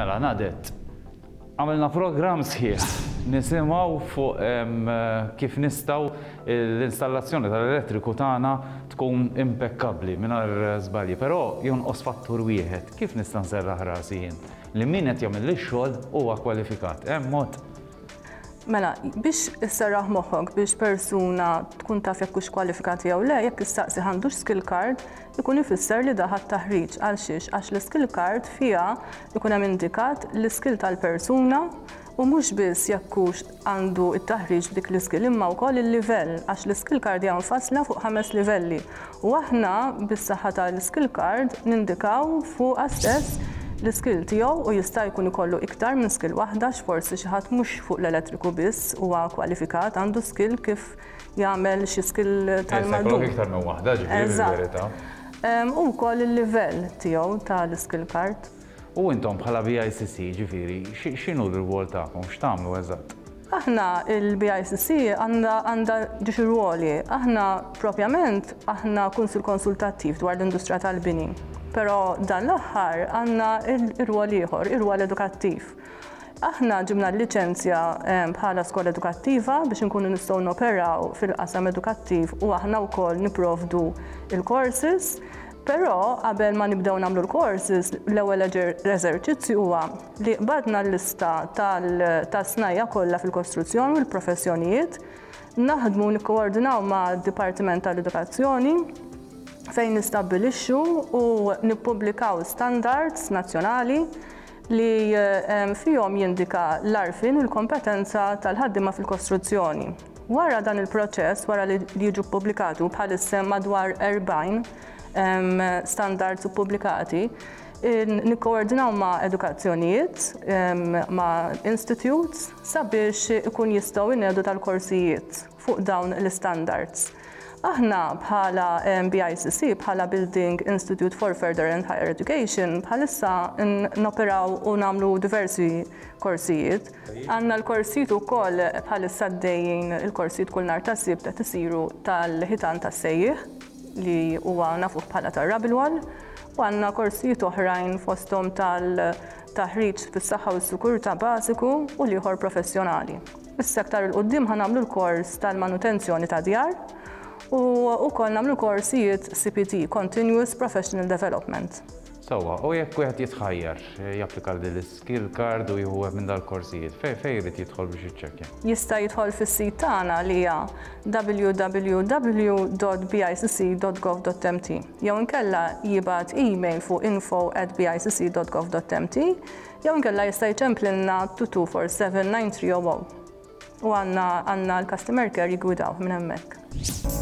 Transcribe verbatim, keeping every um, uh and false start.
Mela, Nadet, għamilna program sħiħ nisimgħu fuq em, kif nistgħu l-installazzjoni tal-elettriku tagħna tkun impeccabli mingħajr żbalji, però jonqos fattur wieħed. Kif nista' nserraħ rasi jien li min qed jagħmel ix-xogħol huwa kwalifikat? Hemm mod? Mela, biex isserraħ moħħok biex persuna tkun taf jekk hux kwalifikati jew le, jekk issaqsi għandux skill card, ikun ifisser li ħa taħriġ. Għal xiex? Għax l-skill card fiha ikun hemm indikat l-skill tal-persuna u mhux biss jekk hux għandu it-taħriġ b'dik l-skill, imma wkoll il-livell, għax l-skill card hija mfassla fuq ħames livelli. U aħna bis-saħħa tal-skill card nindikaw fuq stess l-skill tiegħu, u jista' jkun ikollu iktar minn skill waħda, forsi xi ħadd mhux fuq l-elettriku biss huwa kwalifikat, għandu skill kif jagħmel xi skill tal-madum. Iktar minn waħda, ġifieri, Eżatt. bil-verità. U wkoll il-livell tiegħu tal-skill card. U intom bħala B I C C, ġifieri, x'inhu l-rwol tagħkom, x'tagħmlu eżatt? Aħna il-B I C C għandha għandha ġiex ruoli. Aħna propjament aħna kunsil konsultattiv dwar l-industrija tal-bini. Però dan l-aħħar għandna ir-rwol ieħor, ir-rwol edukattiv. Aħna ġibna l-liċenzja bħala skola edukattiva biex nkunu nistgħu noperaw fil-qasam edukattiv u aħna wkoll niprovdu il-courses. Però qabel ma nibdew nagħmlu l-courses, l-ewwel eżerċizzju huwa li qbadna l-lista tas-snajja kollha fil-kostruzzjoni u l-professjonijiet, naħdmu, nikkoordinaw ma' Dipartiment tal-Edukazzjoni fejn nistabbilixxu u nippubblikaw standards nazzjonali li fihom jindika l-għarfien u l-kompetenza tal-ħaddiema fil-kostruzzjoni. Wara dan il-proċess, wara li jiġu ppubblikatu, bħalissa madwar erbgħin standards pubblikati, nikkoordinaw ma' edukazzjonijiet, ma' institutes, sabiex ikun jistgħu jnedu tal-korsijiet fuq dawn l-standards. Aħna bħala B I C C, bħala Building Institute for Further and Higher Education, bħalissa noperaw u nagħmlu diversi korsijiet. Għandna l-korsijiet ukoll bħalissa għaddejjin, il-korsijiet kull nhar ta' Sibt qed isiru tal-ħitan tas-sejjieħ li huwa nafuh bħala tar-rubble wall, u għandna korsijiet oħrajn, fosthom tal-taħriġ fis-saħħa u s-sikurtà bażiku u l-ieħor professjonali. Issa aktar 'il quddiem ħa nagħmlu l-kors tal-manutenzjoni ta' djar u wkoll nagħmlu korsijiet C P D, Continuous Professional Development. Sewwa, u jekk wieħed jitħajjar japplika din l-skill card u jieħu minn dal-korsijiet, fej fej jrid jidħol biex jiċċekkja? Jista' jidħol fis-sit tagħna li hija w w w dot B I C C dot gov dot M T jew inkella jibgħat email fuq info at B I C C dot gov dot M T jew inkella jista' jċemplilna two two four seven nine three zero zero u għandna għandna l-customer care jigwidaw minn hemmhekk.